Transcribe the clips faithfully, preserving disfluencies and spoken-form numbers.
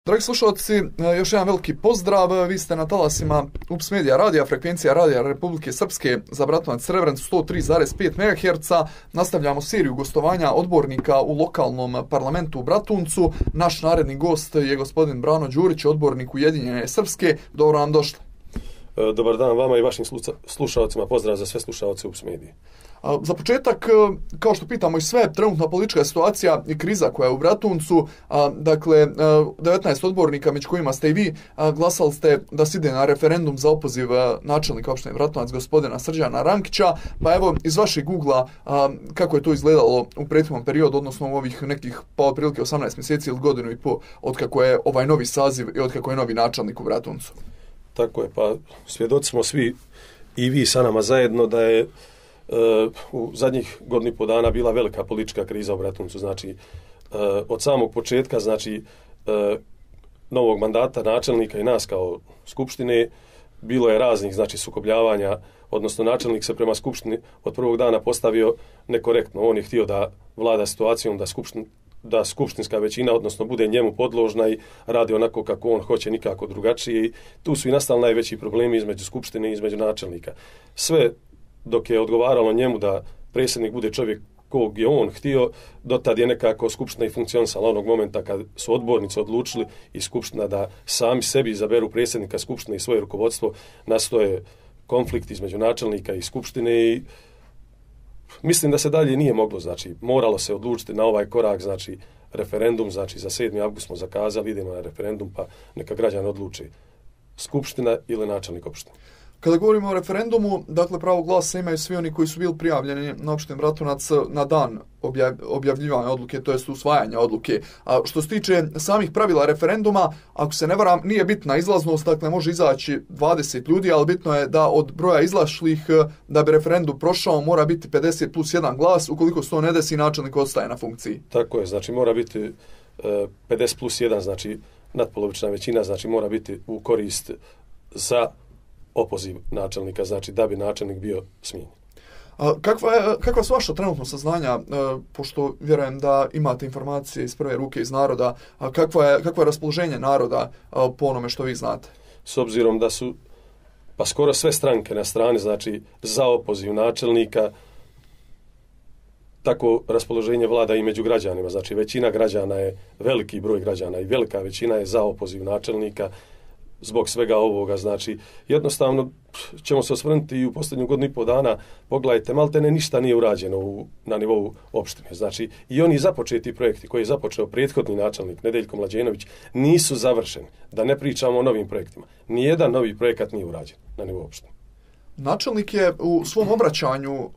Dragi slušalci, još jedan veliki pozdrav. Vi ste na talasima U P S Media radija, frekvencija radija Republike Srpske za Bratunac Srebrenicu sto tri zarez pet megaherca. Nastavljamo seriju gostovanja odbornika u lokalnom parlamentu u Bratuncu. Naš naredni gost je gospodin Brano Đurić, odbornik Ujedinjene Srpske. Dobro nam došli. Dobar dan vama i vašim slušalcima. Pozdrav za sve slušalce U P S Medije. Za početak, kao što pitamo i sve, trenutna politička situacija i kriza koja je u Bratuncu, dakle, devetnaest odbornika, među kojima ste i vi, glasali ste da se ide na referendum za opoziv načelnika opštine Bratunac, gospodina Srđana Rankića, pa evo, iz vašeg ugla, kako je to izgledalo u prethodnom periodu, odnosno u ovih nekih, pa otprilike osamnaest mjeseci ili godinu i po, od kako je ovaj novi saziv i od kako je novi načelnik u Bratuncu? Tako je, pa svjedoci smo svi i vi sa nama zajedno da je Uh, u zadnjih godinu i po dana bila velika politička kriza u Bratuncu. Znači, uh, od samog početka, znači, uh, novog mandata načelnika i nas kao skupštine, bilo je raznih, znači, sukobljavanja, odnosno načelnik se prema skupštini od prvog dana postavio nekorektno. On je htio da vlada situacijom, da skupštin, da skupštinska većina, odnosno bude njemu podložna i radi onako kako on hoće, nikako drugačije. I tu su i nastali najveći problemi između skupštine i između načelnika. Sve dok je odgovaralo njemu da predsjednik bude čovjek kog je on htio, dotad je nekako skupština i funkcionisala. Onog momenta kad su odbornici odlučili i skupština da sami sebi izaberu predsjednika skupštine i svoje rukovodstvo, nastoje konflikt između načelnika i skupštine i mislim da se dalje nije moglo, znači moralo se odlučiti na ovaj korak, znači referendum, znači za sedmi avgust smo zakazali, idemo na referendum, pa neka građani odluči skupština ili načelnik opštine. Kada govorimo o referendumu, dakle pravo glasa imaju svi oni koji su bili prijavljeni na opštini Bratunac na dan objav, objavljivanja odluke, to jest usvajanja odluke. A što se tiče samih pravila referenduma, ako se ne varam, nije bitna izlaznost, dakle može izaći dvadeset ljudi, ali bitno je da od broja izašlih, da bi referendum prošao, mora biti pedeset plus jedan glas, ukoliko se to ne desi, načelnik ostaje na funkciji. Tako je, znači mora biti uh, pedeset plus jedan, znači natpolovična većina, znači mora biti u korist za opoziv načelnika, znači da bi načelnik bio smijenjen. Kakva, je, kakva su vaša trenutno saznanja, pošto vjerujem da imate informacije iz prve ruke iz naroda, kakva je, kakva je raspoloženje naroda po onome što vi znate? S obzirom da su pa skoro sve stranke na strani, znači za opoziv načelnika, tako raspoloženje vlada i među građanima, znači većina građana je, veliki broj građana i velika većina je za opoziv načelnika. Zbog svega ovoga, znači, jednostavno ćemo se osvrnuti i u posljednju godinu i po dana, pogledajte, maltene ništa nije urađeno u, na nivou opštine. Znači, i oni započeti projekti koje je započeo prethodni načelnik Nedeljko Mlađenović nisu završeni. Da ne pričamo o novim projektima. Nijedan novi projekat nije urađen na nivou opštine. Načelnik je u svom obraćanju,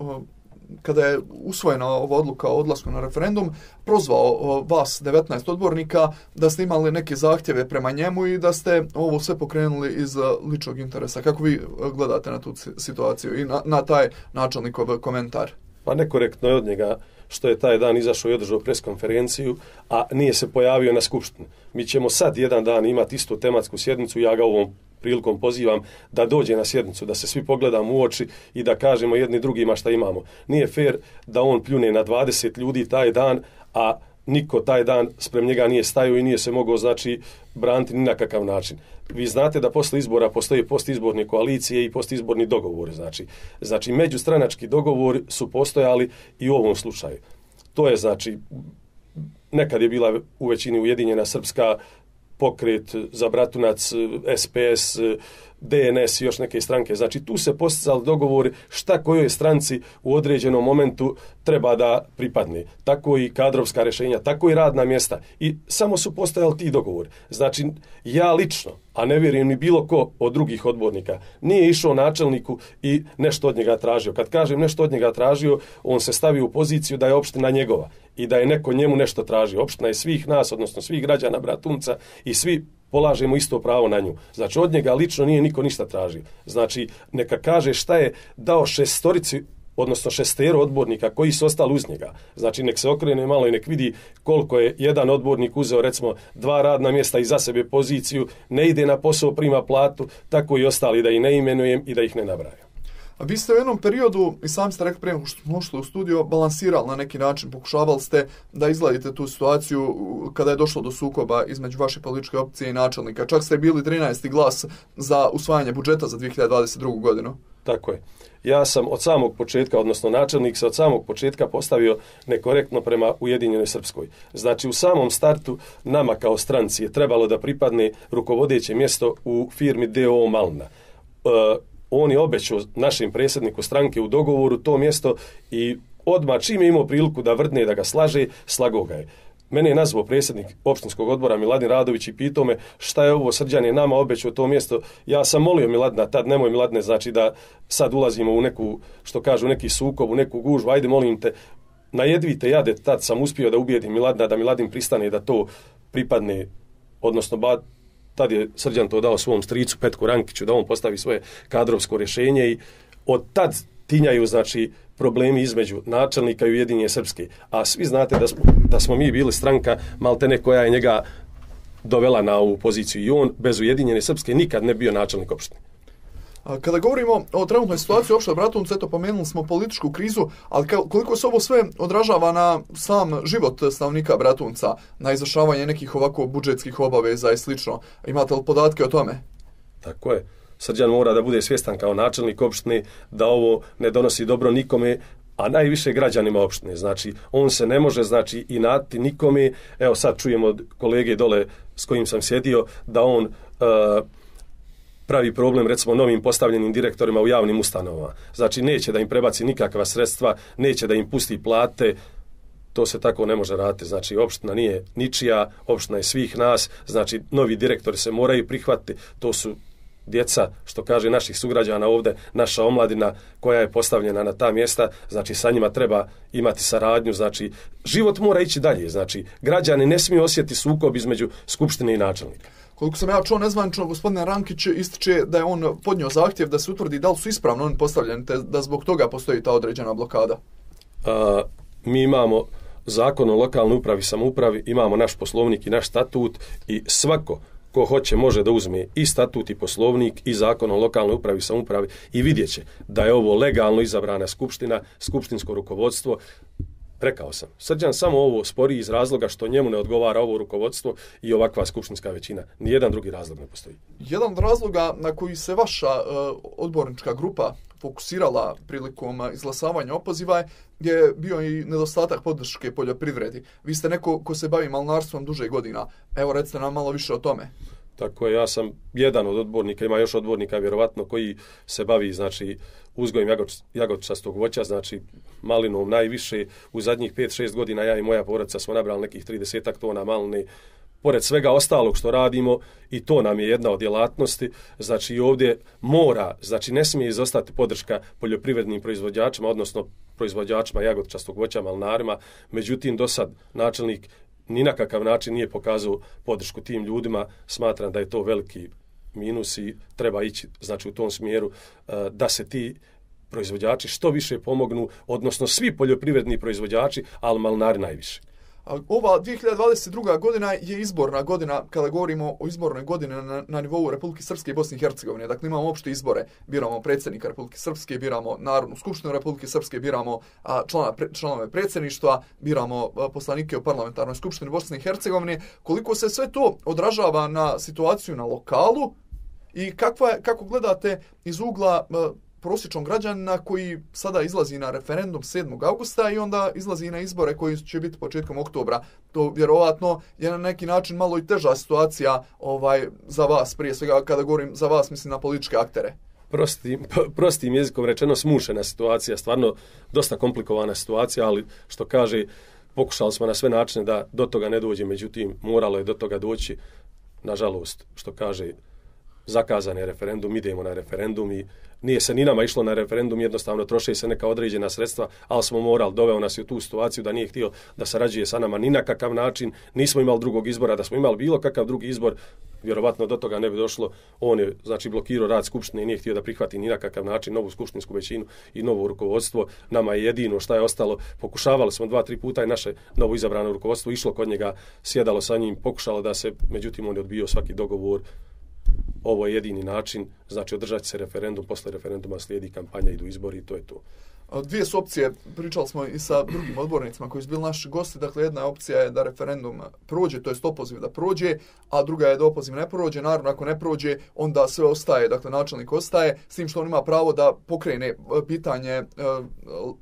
kada je usvojena ova odluka o odlasku na referendum, prozvao vas devetnaest odbornika da ste imali neke zahtjeve prema njemu i da ste ovo sve pokrenuli iz ličnog interesa. Kako vi gledate na tu situaciju i na, na taj načelnikov komentar? Pa nekorektno je od njega što je taj dan izašao i održao preskonferenciju, a nije se pojavio na skupštini. Mi ćemo sad jedan dan imati istu tematsku sjednicu, ja ga ovom prilikom pozivam da dođe na sjednicu, da se svi pogledamo u oči i da kažemo jedni drugima šta imamo. Nije fair da on pljune na dvadeset ljudi taj dan, a niko taj dan sprem njega nije stajao i nije se mogao, znači, braniti ni na kakav način. Vi znate da posle izbora postoje postizborne koalicije i postizborni dogovori, znači. Znači, međustranački dogovori su postojali i u ovom slučaju. To je, znači, nekad je bila u većini Ujedinjena Srpska, Pokret za Bratunac, S P S, D N S i još neke stranke. Znači, tu se posticali dogovori šta kojoj stranci u određenom momentu treba da pripadne. Tako i kadrovska rješenja, tako i radna mjesta. I samo su postojali ti dogovori. Znači, ja lično, a ne vjerujem ni bilo ko od drugih odbornika, nije išao načelniku i nešto od njega tražio. Kad kažem nešto od njega tražio, on se stavi u poziciju da je opština njegova i da je neko njemu nešto tražio. Opština je svih nas, odnosno svih građana Bratunca i svi polažemo isto pravo na nju. Znači, od njega lično nije niko ništa tražio. Znači, neka kaže šta je dao šestorici, odnosno šestero odbornika koji su ostali uz njega. Znači, nek se okrene malo i nek vidi koliko je jedan odbornik uzeo, recimo, dva radna mjesta i za sebe poziciju, ne ide na posao, prima platu, tako i ostali, da ih ne imenujem i da ih ne nabrajam. A vi ste u jednom periodu, i sami ste rekli prije nego što smo ušli u studio, balansirali na neki način, pokušavali ste da izgledite tu situaciju kada je došlo do sukoba između vaše političke opcije i načelnika. Čak ste bili trinaesti glas za usvajanje budžeta za dvije hiljade dvadeset drugu. godinu. Tako je. Ja sam od samog početka, odnosno načelnik se od samog početka postavio nekorektno prema Ujedinjenoj Srpskoj. Znači u samom startu nama kao stranci je trebalo da pripadne rukovodeće mjesto u firmi D O O Malna. E, on je obećao našem predsjedniku stranke u dogovoru to mjesto i odmah čim je imao priliku da vrdne, da ga slaže, slago ga je. Mene je nazvao predsjednik opštinskog odbora Miladin Radović i pitao me šta je ovo, Srđan je nama obećao to mjesto. Ja sam molio Miladina, tad nemoj Miladine, znači da sad ulazimo u neku, što kažu, neki sukob, u neku gužvu, ajde molim te, na jedvite jade, tad sam uspio da ubijedim Miladina, da Miladin pristane da to pripadne, odnosno ba, tad je Srđan to dao svom stricu Petku Rankiću da on postavi svoje kadrovsko rješenje i od tad tinjaju, znači, problemi između načelnika i Ujedinjene Srpske. A svi znate da smo, da smo mi bili stranka maltene koja je njega dovela na ovu poziciju i on bez Ujedinjene Srpske nikad ne bio načelnik opštine. Kada govorimo o trenutnoj situaciji u opštoj Bratuncu, eto pomenuli smo političku krizu, ali koliko se ovo sve odražava na sam život stanovnika Bratunca, na izvršavanje nekih ovako budžetskih obaveza i slično, imate li podatke o tome? Tako je. Srđan mora da bude svjestan kao načelnik opštine da ovo ne donosi dobro nikome, a najviše građanima opštine. Znači, on se ne može, znači, inati nikome. Evo sad čujemo od kolege dole s kojim sam sjedio da on uh, pravi problem, recimo, novim postavljenim direktorima u javnim ustanovama. Znači, neće da im prebaci nikakva sredstva, neće da im pusti plate. To se tako ne može raditi. Znači, opština nije ničija, opština je svih nas. Znači, novi direktori se moraju prihvatiti. To su djeca, što kaže naših sugrađana ovdje, naša omladina koja je postavljena na ta mjesta, znači sa njima treba imati saradnju, znači život mora ići dalje, znači građani ne smiju osjetiti sukob između skupštine i načelnika. Koliko sam ja čuo nezvanično, gospodine Rankić ističe da je on podnio zahtjev da se utvrdi da li su ispravno oni postavljeni, te da zbog toga postoji ta određena blokada. A, mi imamo zakon o lokalnoj upravi i samoupravi, imamo naš poslovnik i naš statut i svako ko hoće može da uzme i statut i poslovnik i zakon o lokalnoj upravi i samoupravi i vidjet će da je ovo legalno izabrana skupština, skupštinsko rukovodstvo. Rekao sam, Srđan samo ovo spori iz razloga što njemu ne odgovara ovo rukovodstvo i ovakva skupštinska većina. Nijedan drugi razlog ne postoji. Jedan od razloga na koji se vaša uh, odbornička grupa fokusirala prilikom izglasavanja opoziva je bio i nedostatak podrške poljoprivredi. Vi ste neko ko se bavi malnarstvom duže godina. Evo, recite nam malo više o tome. Tako je, ja sam jedan od odbornika, ima još odbornika vjerovatno koji se bavi, znači, uzgojem jagodičastog voća, znači malinom najviše. U zadnjih pet šest godina ja i moja porodica smo nabrali nekih tridesetak tona maline. Pored svega ostalog što radimo, i to nam je jedna od djelatnosti, znači ovdje mora, znači ne smije izostati podrška poljoprivrednim proizvođačima, odnosno proizvođačima jagodičastog voća, malnarima. Međutim, do sad načelnik ni na kakav način nije pokazao podršku tim ljudima. Smatram da je to veliki minus i treba ići, znači, u tom smjeru da se ti proizvođači što više pomognu, odnosno svi poljoprivredni proizvođači, ali malnari najviše. Ova dvije hiljade dvadeset druga. godina je izborna godina, kada govorimo o izbornoj godini na, na nivou Republike Srpske i Bosne i Hercegovine. Dakle, imamo opšte izbore, biramo predsjednika Republike Srpske, biramo Narodnu skupštinu Republike Srpske, biramo a, člana, pre, članove predsjedništva, biramo a, poslanike u parlamentarnoj skupštini Bosne i Hercegovine. Koliko se sve to odražava na situaciju na lokalu i kakva, kako gledate iz ugla a, prosječnog građanina koji sada izlazi na referendum sedmog augusta i onda izlazi na izbore koji će biti početkom oktobra. To vjerovatno je na neki način malo i teža situacija ovaj za vas, prije svega kada govorim za vas, mislim na političke aktere. Prostim, prostim jezikom rečeno smušena situacija, stvarno dosta komplikovana situacija, ali što kaže, pokušali smo na sve načine da do toga ne dođe, međutim moralo je do toga doći. Nažalost, što kaže, zakazan je referendum, idemo na referendum i nije se ni nama išlo na referendum, jednostavno troše se neka određena sredstva, ali smo morali, doveo nas u tu situaciju da nije htio da sarađuje sa nama ni na kakav način, nismo imali drugog izbora, da smo imali bilo kakav drugi izbor, vjerovatno do toga ne bi došlo. On je, znači, blokirao rad skupštine i nije htio da prihvati ni na kakav način novu skupštinsku većinu i novo rukovodstvo. Nama je jedino šta je ostalo, pokušavali smo dva, tri puta i naše novo izabrano rukovodstvo išlo kod njega, sjedalo sa njim, pokušalo da se, međutim on je odbio svaki dogovor. ovo je jedini način, znači održati se referendum, posle referenduma slijedi kampanja, idu izbori i to je to. Dvije su opcije, pričali smo i sa drugim odbornicima koji su bili naši gosti, dakle jedna opcija je da referendum prođe, to jest opoziv da prođe, a druga je da opoziv ne prođe, naravno ako ne prođe, onda sve ostaje, dakle načelnik ostaje, s tim što on ima pravo da pokrene pitanje uh,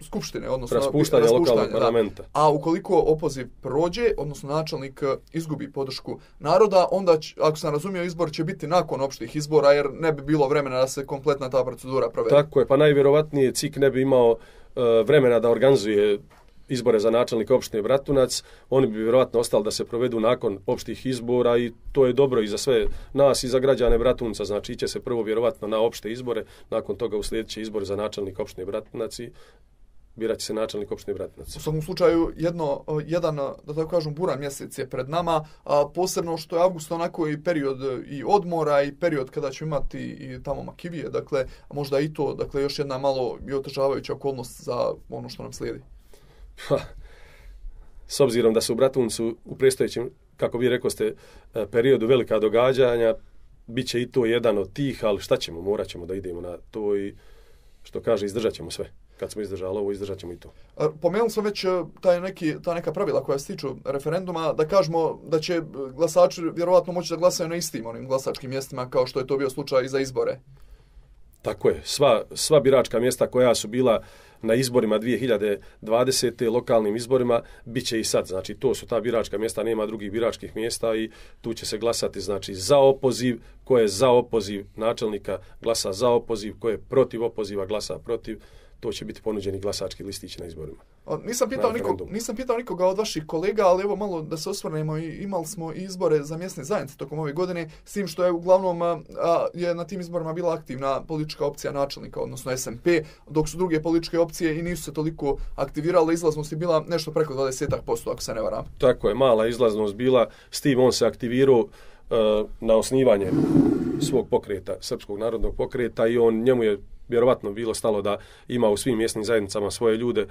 skupštine, odnosno raspuštanje lokalnog parlamenta. Da. A ukoliko opoziv prođe, odnosno načelnik izgubi podršku naroda, onda, će, ako sam razumio, izbor će biti nakon opštih izbora, jer ne bi bilo vremena da se kompletna ta procedura provede. Tako je, pa najvjerovatnije C I K ne bi imao uh, vremena da organizuje izbore za načelnika opštine Bratunac, oni bi vjerovatno ostali da se provedu nakon opštih izbora i to je dobro i za sve nas i za građane Bratunca, znači iće se prvo vjerovatno na opšte izbore, nakon toga uslijedit će izbore za načelnika opštine Bratunac i birat će se načelnik opštine Bratunac. U svakom slučaju, jedno, jedan, da tako kažem, buran mjesec je pred nama, a posebno što je avgust onako i period i odmora i period kada ćemo imati i tamo makivije, dakle, možda i to, dakle, još jedna malo i otežavajuća okolnost za ono što nam slijedi. Ha, s obzirom da su u Bratuncu u predstojećem, kako vi rekao ste, periodu velika događanja, bit će i to jedan od tih, ali šta ćemo, morat ćemo da idemo na to i što kaže, izdržat ćemo sve. Kad smo izdržali ovo, izdržat ćemo i to. Pomenuli smo već taj neki, ta neka pravila koja se tiču referenduma, da kažemo da će glasači vjerovatno moći da glasaju na istim onim glasačkim mjestima kao što je to bio slučaj i za izbore. Tako je. Sva, sva biračka mjesta koja su bila na izborima dvije hiljade dvadesete. lokalnim izborima, bit će i sad. Znači, to su ta biračka mjesta, nema drugih biračkih mjesta i tu će se glasati, znači, za opoziv, ko je za opoziv načelnika glasa za opoziv, ko je protiv opoziva glasa protiv. To će biti ponuđeni glasački listići na izborima. Nisam pitao, nikog, nisam pitao nikoga od vaših kolega, ali evo malo da se osvrnemo, imali smo i izbore za mjesne zajednice tokom ove godine, s tim što je uglavnom a, je na tim izborima bila aktivna politička opcija načelnika, odnosno S M P, dok su druge političke opcije i nisu se toliko aktivirale, izlaznost je bila nešto preko dvadeset posto, ako se ne varam. Tako je, mala izlaznost bila, s tim on se aktivirao uh, na osnivanje svog pokreta, Srpskog narodnog pokreta i on, njemu je vjerovatno bilo stalo da ima u svim mjesnim zajednicama svoje ljude,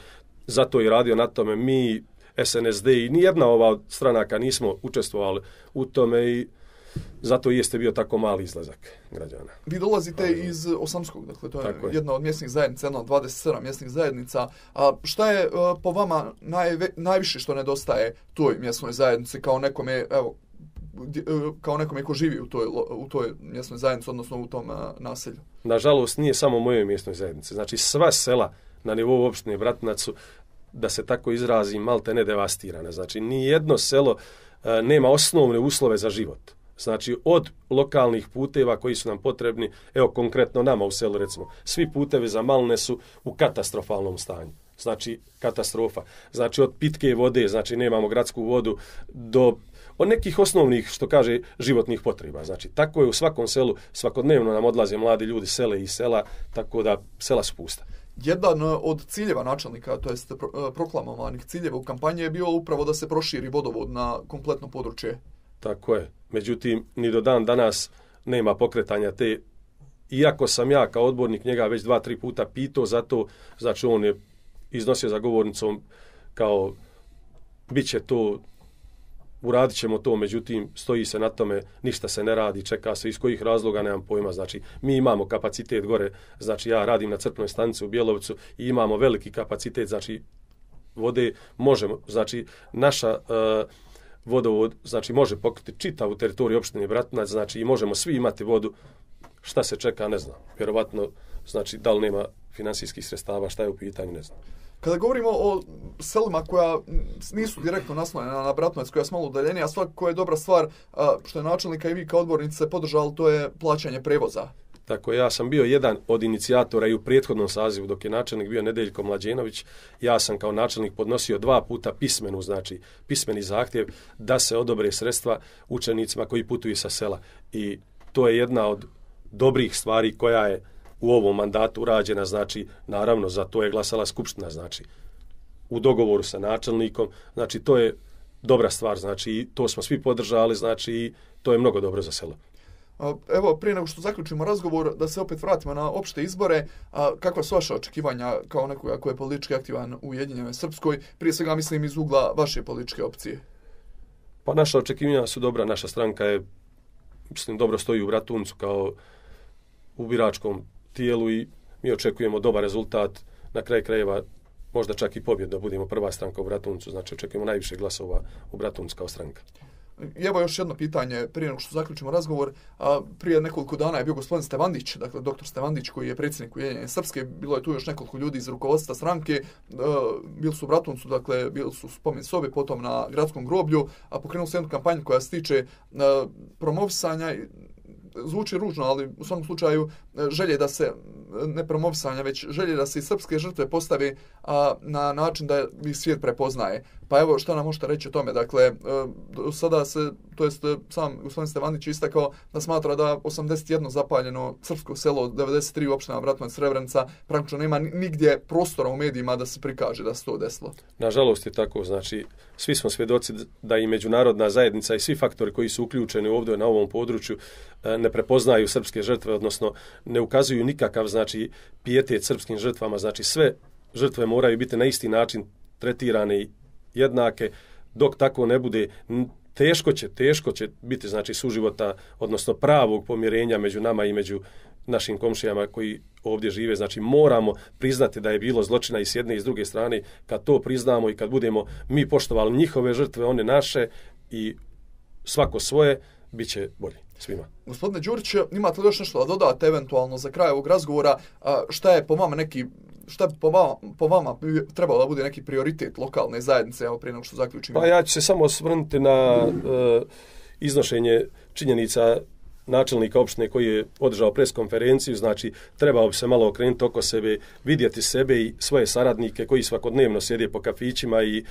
zato je radio na tome. Mi, S N S D i nijedna ova od stranaka nismo učestvovali u tome i zato jeste bio tako mali izlazak građana. Vi dolazite ali, iz Osamskog, dakle to je, je jedna od mjesnih zajednica, jedna od dvadeset sedam mjesnih zajednica. A šta je a, po vama najve, najviše što nedostaje toj mjesnoj zajednici kao nekome, evo, kao nekome ko živi u toj, u toj mjesnoj zajednici, odnosno u tom a, naselju? Nažalost, nije samo moje mjesnoj zajednice. Znači, sva sela na nivou opštine Bratunac su, da se tako izrazim, malte ne devastirane. Znači, ni jedno selo a, nema osnovne uslove za život. Znači, od lokalnih puteva koji su nam potrebni, evo konkretno nama u selu, recimo, svi putevi za Malne su u katastrofalnom stanju. Znači, katastrofa. Znači, od pitke vode, znači, nemamo gradsku vodu, do od nekih osnovnih, što kaže, životnih potreba. Znači, tako je u svakom selu, svakodnevno nam odlaze mladi ljudi sele i sela, tako da sela su pusta. Jedan od ciljeva načelnika, to jest proklamovanih ciljeva u kampanji je bio upravo da se proširi vodovod na kompletno područje. Tako je. Međutim, ni do dan danas nema pokretanja te, iako sam ja kao odbornik njega već dva, tri puta pitao za to, znači on je iznosio za govornicom kao bit će to, uradit ćemo to, međutim, stoji se na tome, ništa se ne radi, čeka se, iz kojih razloga, nemam pojma. Znači, mi imamo kapacitet gore, znači ja radim na crpnoj stanici u Bjelovcu i imamo veliki kapacitet, znači, vode možemo, znači, naša uh, vodovod, znači, može pokriti čitavu teritoriju opštine Bratunac, znači, i možemo svi imati vodu, šta se čeka, ne znam, vjerovatno, znači, da li nema finansijskih sredstava, šta je u pitanju, ne znam. Kada govorimo o selima koja nisu direktno naslonjena na Bratunac, koja je malo udaljenija, svakako je dobra stvar, što je načelnika i vi kao odbornice podržali, to je plaćanje prevoza. Tako, ja sam bio jedan od inicijatora i u prethodnom sazivu, dok je načelnik bio Nedeljko Mlađenović, ja sam kao načelnik podnosio dva puta pismenu, znači pismeni zahtjev da se odobre sredstva učenicima koji putuju sa sela. I to je jedna od dobrih stvari koja je u ovom mandatu urađena, znači, naravno, za to je glasala skupština, znači, u dogovoru sa načelnikom, znači, to je dobra stvar, znači, to smo svi podržali, znači, to je mnogo dobro za selo. Evo, prije nego što zaključimo razgovor, da se opet vratimo na opšte izbore, kakva su vaša očekivanja kao nekoga ko je politički aktivan u Ujedinjenoj Srpskoj, prije svega mislim iz ugla vaše političke opcije? Pa naša očekivanja su dobra, naša stranka je mislim, dobro stoji u Bratuncu kao u biračkom tijelu i mi očekujemo dobar rezultat, na kraju krajeva možda čak i pobjedno, budemo prva stranka u Bratuncu, znači očekujemo najviše glasova u Bratuncu kao stranka. I evo još jedno pitanje prije nego što zaključimo razgovor. A, prije nekoliko dana je bio gospodin Stevandić, dakle doktor Stevandić koji je predsjednik Ujedinjene Srpske, bilo je tu još nekoliko ljudi iz rukovodstva stranke, a, bili su u Bratuncu, dakle bili su spomen sobe, potom na gradskom groblju, a pokrenuli su jednu kampanju koja se tiče a, promovisanja, zvuči ružno, ali u svakom slučaju želje da se, ne promovisanja, već želje da se i srpske žrtve postavi a, na način da ih svijet prepoznaje. Pa evo, šta nam možete reći o tome? Dakle, sada se, to jest sam gospodin Stevanić istakao da smatra da osamdeset jedno zapaljeno srpsko selo, devedeset tri opština Bratunac, Srebrenica, praktično nema nigdje prostora u medijima da se prikaže da se to desilo. Nažalost je tako, znači svi smo svjedoci da i međunarodna zajednica i svi faktori koji su uključeni ovdje na ovom području ne prepoznaju srpske žrtve, odnosno ne ukazuju nikakav, znači, pijetet srpskim žrtvama, znači sve žrtve moraju biti na isti način tretirane i jednake. Dok tako ne bude, teško će, teško će biti, znači, suživota, odnosno pravog pomirenja među nama i među našim komšijama koji ovdje žive. Znači, moramo priznati da je bilo zločina i s jedne i s druge strane. Kad to priznamo i kad budemo mi poštovali njihove žrtve, one naše i svako svoje, bit će bolje svima. Gospodine Đurić, imate li još nešto da dodate eventualno za kraj ovog razgovora? Šta je po vama neki, šta po vama, po vama trebalo da bude neki prioritet lokalne zajednice, evo prije nego što zaključimo? Pa ja ću se samo osvrnuti na uh, iznošenje činjenica načelnika opštine koji je održao preskonferenciju, znači trebao bi se malo okrenuti oko sebe, vidjeti sebe i svoje saradnike koji svakodnevno sjede po kafićima i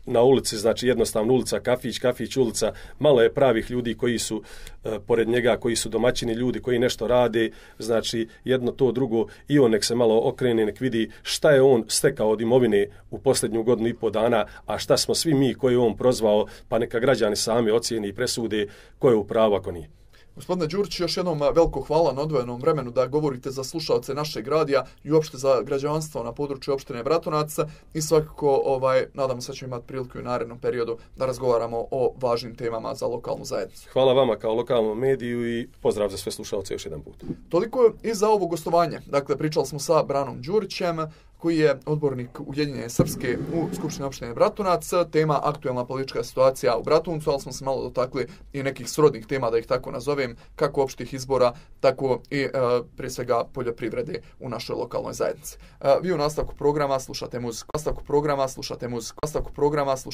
na ulici, znači jednostavno ulica, kafić, kafić, ulica, malo je pravih ljudi koji su e, pored njega, koji su domaćini ljudi, koji nešto rade, znači jedno to drugo i on nek se malo okrene, nek vidi šta je on stekao od imovine u posljednju godinu i po dana, a šta smo svi mi koji je on prozvao, pa neka građani sami ocijeni i presude ko je u pravu, ako nije. Gospodine Đurić, još jednom veliko hvala na odvojenom vremenu da govorite za slušalce našeg radija i uopšte za građanstvo na području opštine Bratunac i svakako ovaj, nadam se da ćemo imati priliku u narednom periodu da razgovaramo o važnim temama za lokalnu zajednicu. Hvala vama kao lokalnom mediju i pozdrav za sve slušalce još jedan put. Toliko i za ovo gostovanje. Dakle, pričali smo sa Branom Đurićem, koji je odbornik Ujedinjene Srpske u Skupštini opštine Bratunac. Tema aktuelna politička situacija u Bratuncu, ali smo se malo dotakli i nekih srodnih tema, da ih tako nazovem, kako opštih izbora, tako i e, prije svega poljoprivrede u našoj lokalnoj zajednici. E, vi u nastavku programa slušate muziku. Nastavku programa slušate muziku. Nastavku programa slušate